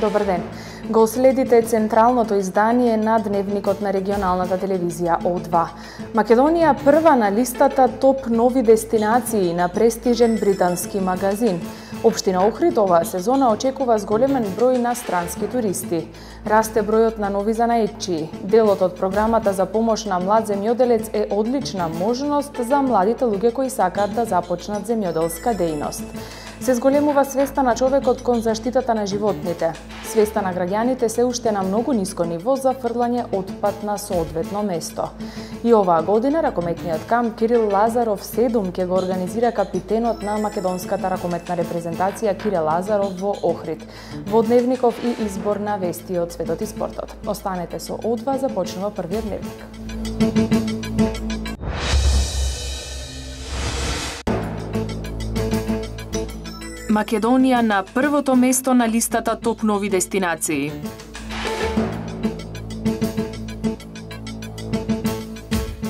Добар ден. Го следите централното издание на Дневникот на регионалната телевизија О2. Македонија прва на листата топ нови дестинации на престижен британски магазин. Општина Охрид оваа сезона очекува зголемен број на странски туристи. Расте бројот на нови занаетчии. Делот од програмата за помош на млад земјоделец е одлична можност за младите луѓе кои сакаат да започнат земјоделска дејност. Се зголемува свеста на човекот кон заштитата на животните. Свеста на граѓаните се уште на многу ниско ниво за фрлање отпад на соодветно место. И оваа година ракометниот камп Кирил Лазаров 7 ќе го организира капитенот на македонската ракометна репрезентација Кире Лазаров во Охрид. Во Дневников и избор на вести од светот и спортот. Останете со О2, започнува првиот дневник. Македонија на првото место на листата топ нови дестинации.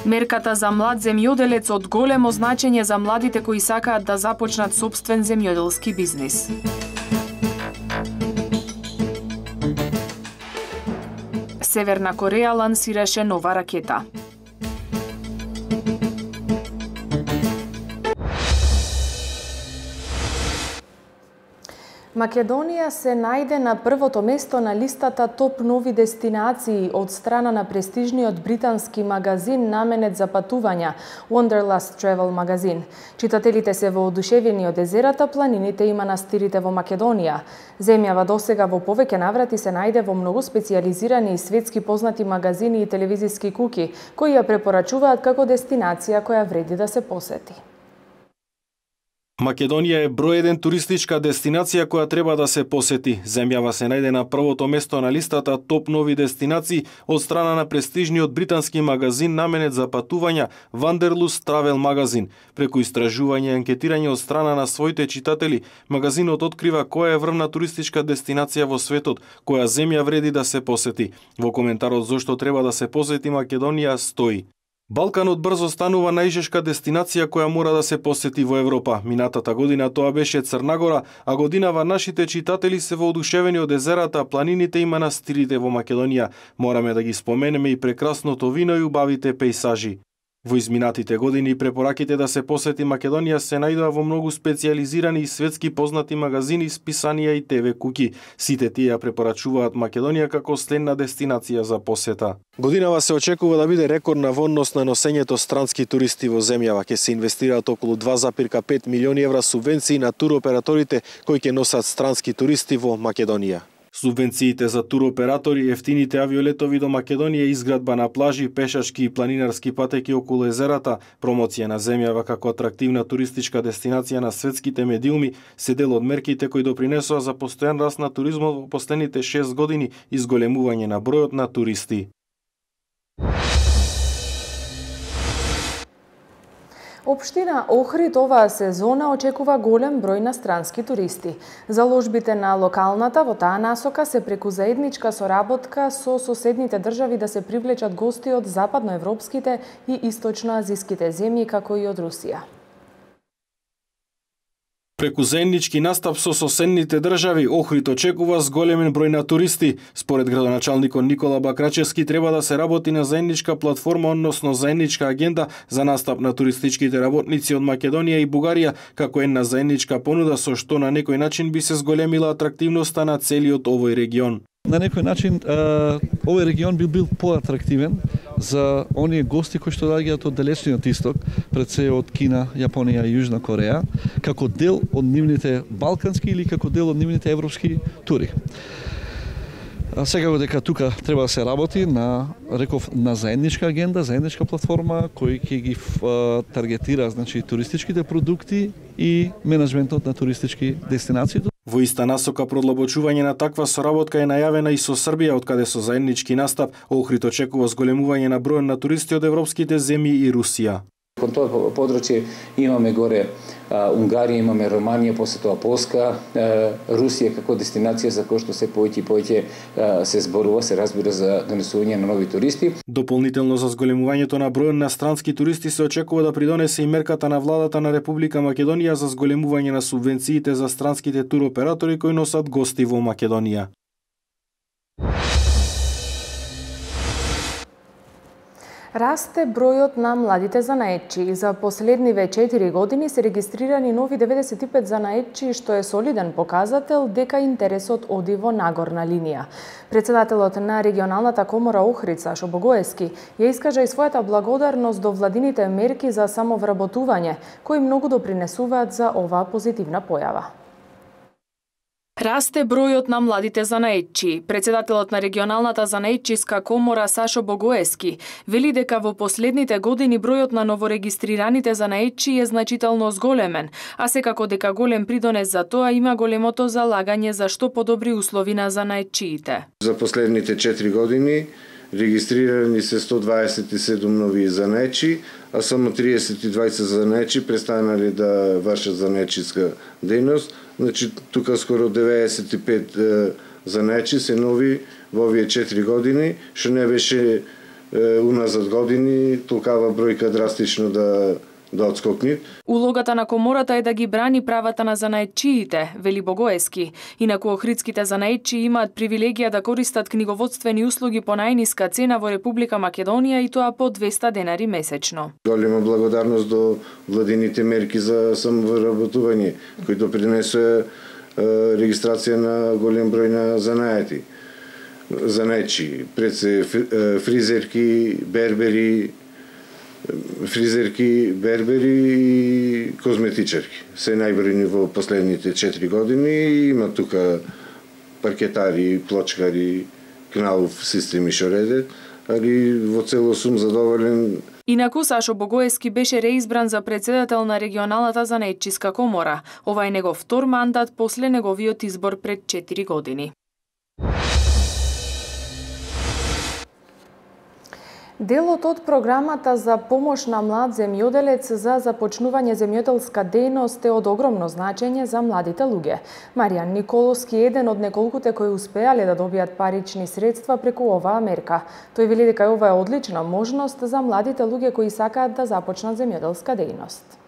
Мерката за млад земјоделец од големо значење за младите кои сакаат да започнат сопствен земјоделски бизнис. Северна Кореја лансираше нова ракета. Македонија се најде на првото место на листата топ нови дестинации од страна на престижниот британски магазин наменет за патувања Wanderlust Travel магазин. Читателите се воодушевени од езерата, планините и манастирите во Македонија. Земјава досега во повеќе наврати се најде во многу специјализирани и светски познати магазини и телевизиски куки, кои ја препорачуваат како дестинација која вреди да се посети. Македонија е број 1 туристичка дестинација која треба да се посети. Земјава се најде на првото место на листата топ нови дестинации од страна на престижниот британски магазин наменет за патувања Wanderlust Travel магазин. Преку истражување и анкетирање од страна на своите читатели, магазинот открива која е врвна туристичка дестинација во светот, која земја вреди да се посети. Во коментарот зошто треба да се посети Македонија стои: Балканот брзо станува најжешка дестинација која мора да се посети во Европа. Минатата година тоа беше Црна Гора, а годинава нашите читатели се воодушевени од езерата, планините и манастирите во Македонија. Мораме да ги споменеме и прекрасното вино и убавите пејсажи. Во изминатите години препораките да се посети Македонија се најдоа во многу специјализирани и светски познати магазини, списанија и ТВ куки. Сите тие ја препорачуваат Македонија како следна дестинација за посета. Годинава се очекува да биде рекордна во однос на носењето странски туристи во земјава. Ќе се инвестираат околу 2,5 милиони евра субвенции на туроператорите кои ќе носат странски туристи во Македонија. Субвенциите за туроператори, ефтините авиолетови до Македонија, изградба на плажи, пешачки и планинарски патеки околу езерата, промоција на земјава како атрактивна туристичка дестинација на светските медиуми се дел од мерките кои допринесоа за постојан раст на туризмот во последните 6 години и зголемување на бројот на туристи. Општина Охрид оваа сезона очекува голем број на странски туристи. Заложбите на локалната во таа насока се преку заедничка соработка со соседните држави да се привлечат гости од западноевропските и источноазиските земји, како и од Русија. Преку заеднички настап со соседните држави, Охрид очекува зголемен број на туристи. Според градоначалникот Никола Бакрачевски треба да се работи на заедничка платформа, односно заедничка агенда за настап на туристичките работници од Македонија и Бугарија, како една заедничка понуда со што на некој начин би се зголемила атрактивноста на целиот овој регион. На некој начин овој регион би бил поатрактивен за оние гости кои што доаѓаат од далечниот исток, пред се од Кина, Јапонија и Јужна Кореја, како дел од нивните балкански или како дел од нивните европски тури. Секако дека тука треба да се работи на, реков, на заедничка агенда, заедничка платформа кој ќе ги таргетира, значи, туристичките продукти и менеджментот на туристички дестинации. Во иста насока продлабочување на таква соработка е најавена и со Србија, откаде со заеднички настап Охрид очекува зголемување на бројот на туристи од европските земји и Русија. Кон тоа подручје имаме горе Унгарија, имаме Романија, после тоа Полска, Русија како дестинација за која што се повеќе и повеќе се зборува, се разбира за донесување на нови туристи. Дополнително за зголемувањето на бројот на странски туристи се очекува да придонесе и мерката на владата на Република Македонија за зголемување на субвенциите за странските туроператори кои носат гости во Македонија. Расте бројот на младите занаетчи. За последниве 4 години се регистрирани нови 95 занаетчи, што е солиден показател дека интересот оди во нагорна линија. Председателот на регионалната комора Охрид Сашо Богоевски ја искажа и својата благодарност до владините мерки за самовработување, кои многу допринесуваат за оваа позитивна појава. Расте бројот на младите занаетчи. Председателот на регионалната занаетчиска комора Сашо Богоевски вели дека во последните години бројот на новорегистрираните занаетчи е значително зголемен, а секако дека голем придонес за тоа има големото залагање за што подобри услови на занаетчиите. За последните 4 години регистрирани се 127 нови занаетчи, а само 32 занаетчи престанали да вршат занаетчиска дејност. Значи, тука скоро 95 занаетчи се нови во овие 4 години, што не беше уназад години толкава бројка драстично да одскокни. Улогата на комората е да ги брани правата на занаетчиите, вели Богоевски. Инаку охридските занаетчи имаат привилегија да користат книговодствени услуги по најниска цена во Република Македонија и тоа по 200 денари месечно. Голема благодарност до владините мерки за самовработување, кои допринесоа регистрација на голем број на занаетчи, пред се фризерки, бербери и козметичарки. Се најбројни во последните 4 години. Има тука паркетари, плочкари, кналов системи што редат, али во цело сум задоволен. Инаку Сашо Богоевски беше реизбран за председател на регионалната занаетчиска комора. Ова е негов втор мандат после неговиот избор пред 4 години. Делот од програмата за помош на млад земјоделец за започнување земјоделска дејност е од огромно значење за младите луѓе. Маријан Николовски е еден од неколкуте кои успеале да добијат парични средства преку оваа мерка. Тој вели дека ова е одлична можност за младите луѓе кои сакаат да започнат земјоделска дејност.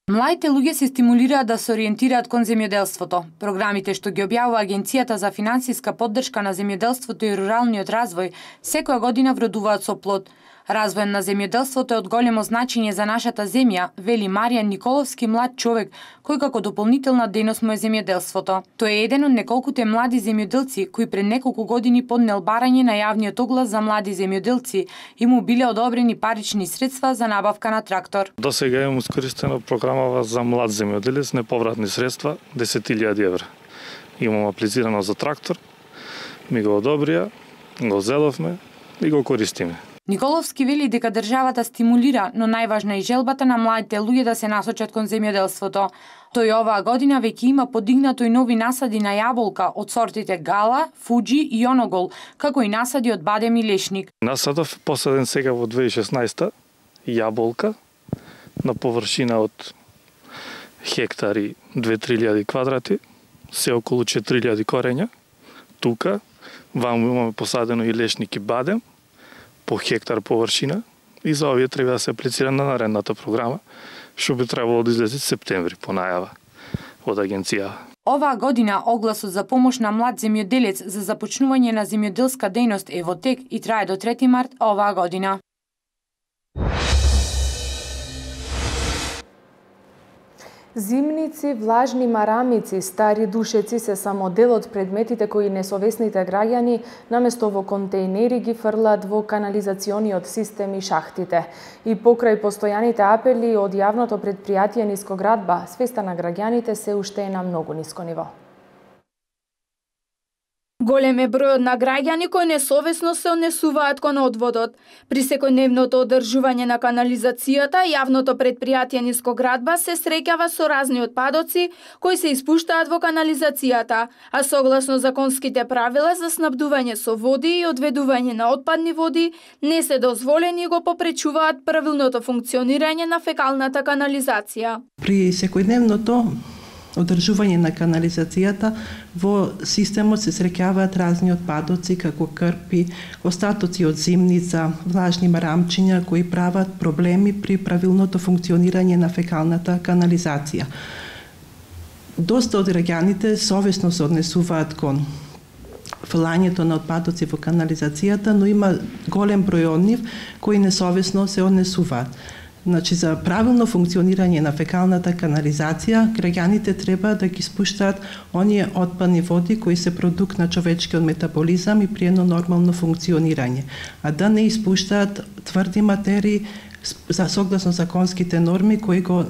Младите луѓе се стимулираат да се ориентираат кон земјоделството. Програмите што ги објавува Агенцијата за финансиска поддршка на земјоделството и руралниот развој секоја година вродуваат со плод. Развојот на земјоделството е од големо значење за нашата земја, вели Маријан Николовски, млад човек кој како дополнителна дејност му е земјоделството. Тој е еден од неколкуте млади земјоделци кои пред неколку години поднел барање на јавниот оглас за млади земјоделци и му биле одобрени парични средства за набавка на трактор. До сега имам искористено програмава за млад земјоделец, неповратни средства 10.000 евра. Имам аплицирано за трактор, ми го одобрија, го зеловме и го користиме. Николовски вели дека државата стимулира, но најважна е желбата на младите луѓе да се насочат кон земјоделството. Тој оваа година веќе има подигнато и нови насади на јаболка од сортите Гала, Фуджи и Оногол, како и насади од бадем и лешник. Насадов посаден сега во 2016 јаболка на површина од хектари 2-3 квадрати, се околу 4.000 корења. Тука ваму имаме посадено и лешник и бадем по хектар површина и за овие треба да се аплицира на наредната програма, што би требало да излезе септември по најава од агенција. Оваа година огласот за помош на млад земјоделец за започнување на земјоделска дејност е во тек и трае до 3 март оваа година. Зимници, влажни марамици, стари душеци се само дел од предметите кои несовесните граѓани наместо во контејнери ги фрлат во канализациониот систем и шахтите. И покрај постојаните апели од јавното предпријатие Нискоградба, свеста на граѓаните се уште е на многу ниско ниво. Голем е бројот на граѓани кои несовесно се однесуваат кон одводот. При секојдневното одржување на канализацијата, јавното предпријатие Нискоградба се среќава со разни отпадоци кои се испуштаат во канализацијата, а согласно законските правила за снабдување со води и одведување на отпадни води не се дозволени и го попречуваат правилното функционирање на фекалната канализација. При секојдневното одржување на канализацијата во системот се среќаваат разни отпадоци како крпи, остатоци од зимница, влажни марамчиња кои прават проблеми при правилното функционирање на фекалната канализација. Доста од граѓаните совесно се однесуваат кон фрлањето на отпадоци во канализацијата, но има голем број од нив кои несовесно се однесуваат. Значи, за правилно функционирање на фекалната канализација, граѓаните треба да ги спуштаат оние отпадни води кои се продукт на човечкиот метаболизам и при едно нормално функционирање, а да не испуштаат тврди материи согласно законските норми кои го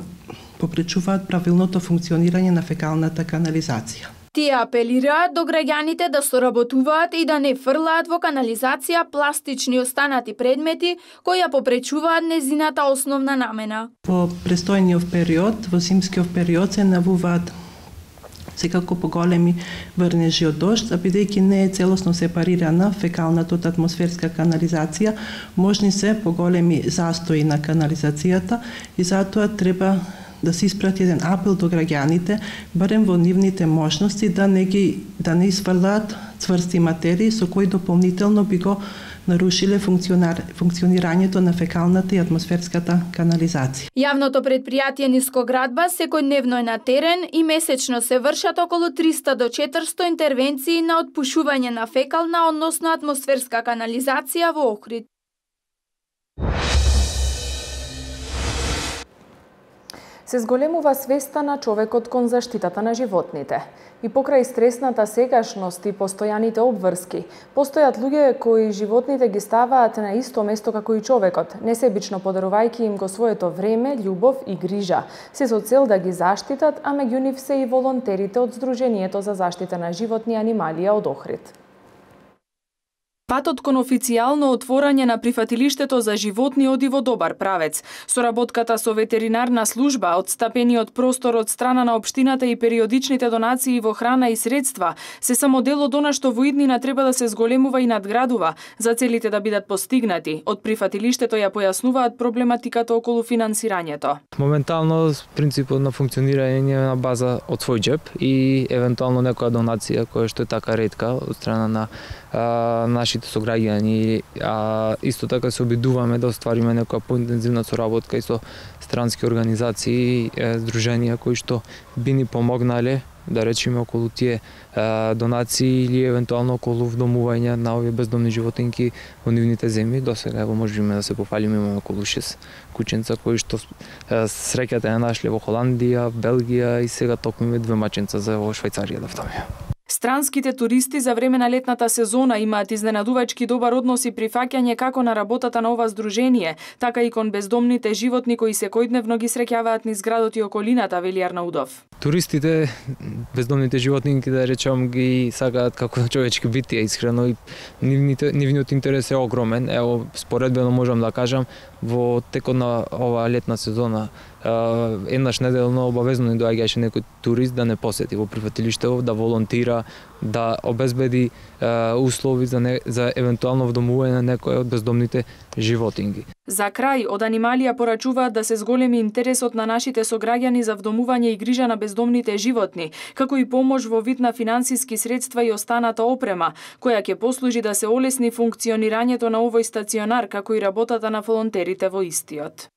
попречуваат правилното функционирање на фекалната канализација. Тие апелираат до граѓаните да соработуваат и да не фрлаат во канализација пластични останати предмети кои ја попречуваат незината основна намена. Во престојниот период, во зимскиот период се навуваат секако поголеми врнежи од дожд, а бидејќи не е целосно сепарирана фекалната од атмосферска канализација, можни се поголеми застои на канализацијата и затоа треба да се испрати еден апел до граѓаните, барем во нивните можности да не испрлаат цврсти материи со кои дополнително би го нарушиле функционирањето на фекалната и атмосферската канализација. Јавното предпријатие Нискоградба секојдневно е на терен и месечно се вршат околу 300 до 400 интервенции на отпушување на фекална, односно атмосферска канализација во Охрид. Се зголемува свеста на човекот кон заштитата на животните. И покрај стресната сегашност и постојаните обврски, постојат луѓе кои животните ги ставаат на исто место како и човекот, несебично подарувајќи им го своето време, љубов и грижа, се со цел да ги заштитат, а меѓу нив се и волонтерите од Сдруженијето за заштита на животни и анималија од Охрид. Патот кон официјално отворање на прифатилиштето за животни оди во добар правец. Соработката со ветеринарна служба, отстапениот простор од страна на општината и периодичните донации во храна и средства се само дел од она што во иднина треба да се зголемува и надградува за целите да бидат постигнати. Од прифатилиштето ја појаснуваат проблематиката околу финансирањето. Моментално принципот на функционирање на база од свој џеп и евентуално некоја донација која што е така ретка од страна на нашите сограѓани, исто така се обидуваме да оствариме некоја поинтензивна соработка и со странски организации, здруженија кои што би ни помогнале, да речеме, околу тие донации или евентуално околу вдомување на овие бездомни животинки во нивните земји. До сега ево можеме да се пофалиме, имаме околу 6 кученца кои што среќата ја нашле во Холандија, Белгија и сега токму 2 маченца за во Швајцарија да втамија. Странските туристи за време на летната сезона имаат изненадувачки добар однос и прифаќање како на работата на ова здружение, така и кон бездомните животни кои секојдневно ги среќаваат низ градот и околината, вели Арнаудов. Туристите, бездомните животнинки, да речам, ги сакаат како човечки битија искрено и нивниот интерес е огромен. Ево, споредбено можам да кажам, во текот на оваа летна сезона еднаш неделно обавезно ни доаѓаше некој турист да не посети во прифатилиштето, да волонтира, да обезбеди услови за евентуално вдомување на некој од бездомните животинки. За крај, од анималија порачуваат да се зголеми интересот на нашите сограѓани за вдомување и грижа на бездомните животни, како и помош во вид на финансиски средства и останата опрема, која ќе послужи да се олесни функционирањето на овој стационар, како и работата на волонтерите во истиот.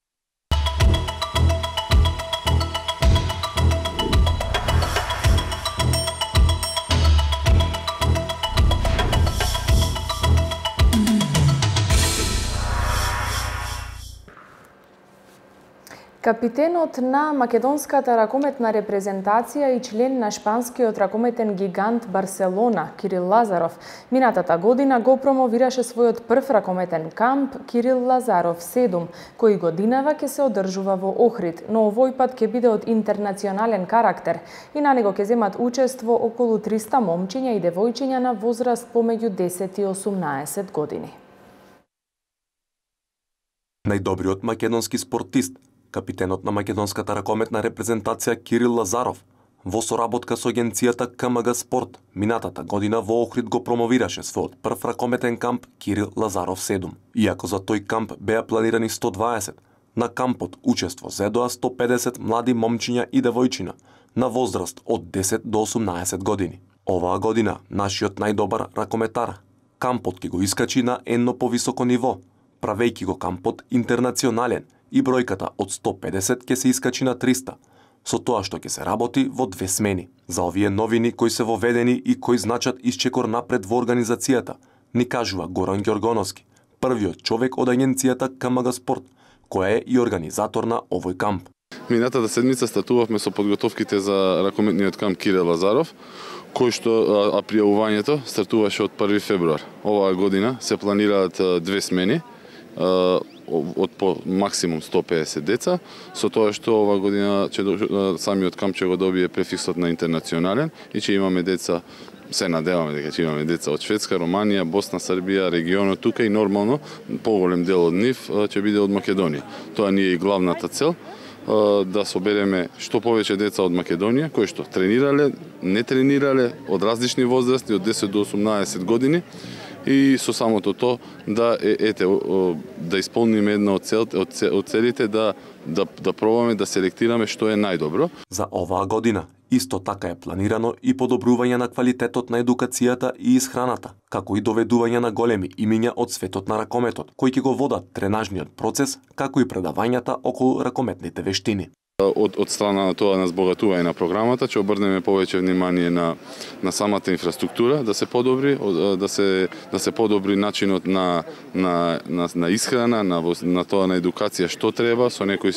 Капитенот на македонската ракометна репрезентација и член на шпанскиот ракометен гигант Барселона, Кирил Лазаров, минатата година го промовираше својот прв ракометен камп Кирил Лазаров 7, кој годинава ќе се одржува во Охрид, но овој пат ќе биде од интернационален карактер и на него ќе земат учество околу 300 момчиња и девојчиња на возраст помеѓу 10 и 18 години. Најдобриот македонски спортист, капитенот на македонската ракометна репрезентација Кирил Лазаров, во соработка со агенцијата КМГ Спорт, минатата година во Охрид го промовираше својот прв ракометен камп Кирил Лазаров 7. Иако за тој камп беа планирани 120, на кампот учество зедоа 150 млади момчиња и девојчина на возраст од 10 до 18 години. Оваа година нашиот најдобар ракометар кампот ќе го искачи на едно повисоко ниво, правејќи го кампот интернационален, и бројката од 150 ќе се искачи на 300, со тоа што ќе се работи во 2 смени. За овие новини кои се воведени и кои значат исчекор напред во организацијата, ни кажува Горан Ѓоргоновски, првиот човек од агенцијата КМГ Спорт, која е и организатор на овој камп. Минатата седмица стартувавме со подготовките за ракометниот камп Кирил Лазаров, кој што пријавувањето стартуваше од 1 февруар. Оваа година се планираат 2 смени, од по максимум 150 деца, со тоа што оваа година самиот камп ќе го добие префиксот на интернационален и ќе имаме деца, се надеваме дека ќе имаме деца од Шведска, Романија, Босна, Србија, регионот тука и нормално поголем дел од нив ќе биде од Македонија. Тоа ни е и главната цел, да собереме што повеќе деца од Македонија, кои што тренирале, не тренирале, од различни возрасти, од 10 до 18 години, и со самото тоа да исполниме една од целите да пробаме да селектираме што е најдобро. За оваа година исто така е планирано и подобрување на квалитетот на едукацијата и исхраната, како и доведување на големи имиња од светот на ракометот, кои ќе го водат тренажниот процес, како и предавањата околу ракометните вештини. Од страна на тоа на збогатување на програмата ќе обрнеме повеќе внимание на самата инфраструктура, да се подобри, да се подобри начинот на исхрана, на тоа на едукација што треба, со некои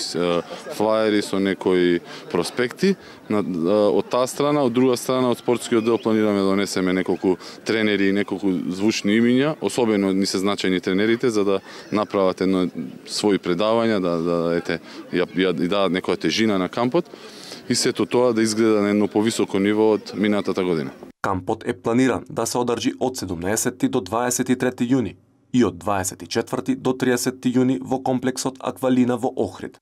флаери, со некои проспекти. Од таа страна, од друга страна, од спортскиот дел планираме да донесеме неколку тренери и неколку звучни имиња, особено ни се значајни тренерите, за да направат едно своји предавања, да дадат некоја тежина на кампот и сето тоа да изгледа на едно повисоко ниво од минатата година. Кампот е планиран да се одржи од 17 до 23 јуни и од 24 до 30 јуни во комплексот Аквалина во Охрид.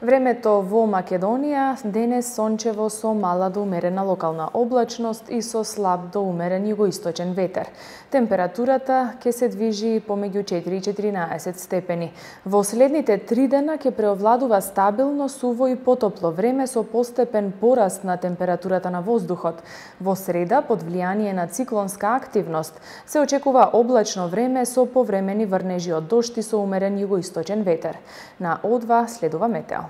Времето во Македонија денес сончево со мала до умерена локална облачност и со слаб до умерен југоисточен ветер. Температурата ќе се движи помеѓу 4 и 14 степени. Во следните 3 дена ќе преовладува стабилно, суво и потопло време со постепен пораст на температурата на воздухот. Во среда, под влијание на циклонска активност, се очекува облачно време со повремени врнежи од дожд и со умерен југоисточен ветер. На О2 следува метео.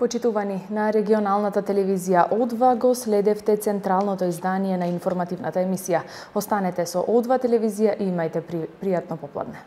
Почитувани, на регионалната телевизија О2 го следевте централното издание на информативната емисија. Останете со О2 телевизија и имајте пријатно попладне.